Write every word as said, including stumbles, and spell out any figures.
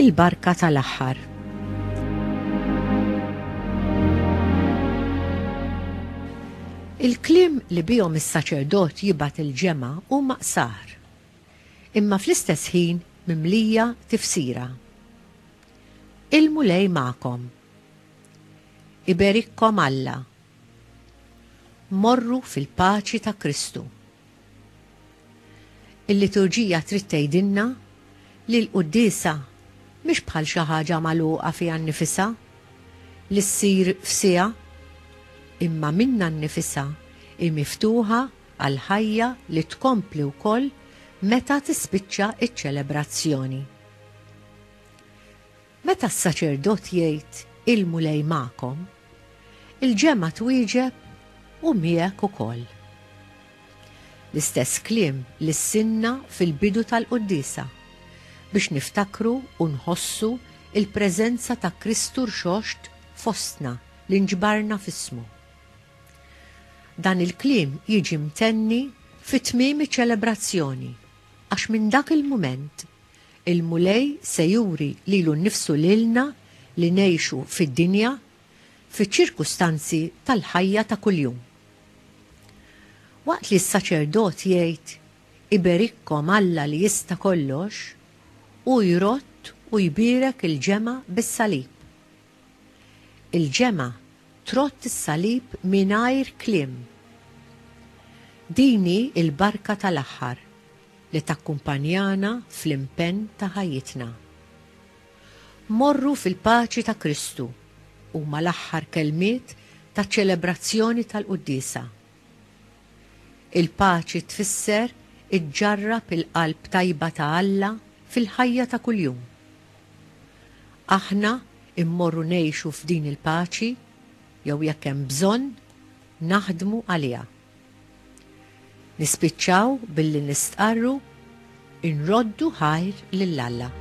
Il-barka tal-aħħar. Il-kliem li bihom is-saċerdot jibgħat il-ġemgħa huma qsar, imma fl-istess ħin mimlija tifsira. Il-Mulej magħkom. Iberikkom Alla. Morru fil-paċi ta' Kristu. Il-liturġija trid tgħidilna li l-quddiesa mhix bħal xi ħaġa magħluqa fiha nnifisha li ssir f'siegħa, imma minnha nnifisha hi miftuħa għal ħajja li tkompli wkoll meta tispiċċa ċ-ċelebrazzjoni. Meta s-saċerdot jgħid il-Mulej magħkom, il-ġemgħa twieġeb u miegħek ukoll. L-istess kliem li ssinna fil-bidu tal-quddiesa biex niftakru u nħossu il-preżenza ta' Kristu rxoxt fostna li nġbarna f'ismu. Dan il-kliem jiġi mtenni fi tmiem iċ-ċelebrazzjoni għax minn dak il-mument il-Mulej se juri lilu nnifsu lilna li ngħixu fid-dinja fiċ-ċirkustanzi tal-ħajja ta' kuljum. Waqt li s-saċerdot jgħid iberikkom Alla li jista' kollox, hu jrodd u jbierek il-ġemgħa bis-salib. Il-ġemgħa trodd is-salib mingħajr kliem. Din hi l-barka tal-aħħar li takkumpanjana fl-impenn ta' ħajjitna. Morru fil-paċi ta' Kristu huma l-aħħar kelmiet taċ-ċelebrazzjoni tal-quddiesa. Il-paċi tfisser iġġarrab il-qalb tajba ta' Alla fil-ħajja ta' kuljum. Aħna immorru ngħixu f'din il-paċi jew jekk hemm bżonn naħdmu għaliha. Nispiċċaw billi nistqarru inroddu ħajr lil Alla.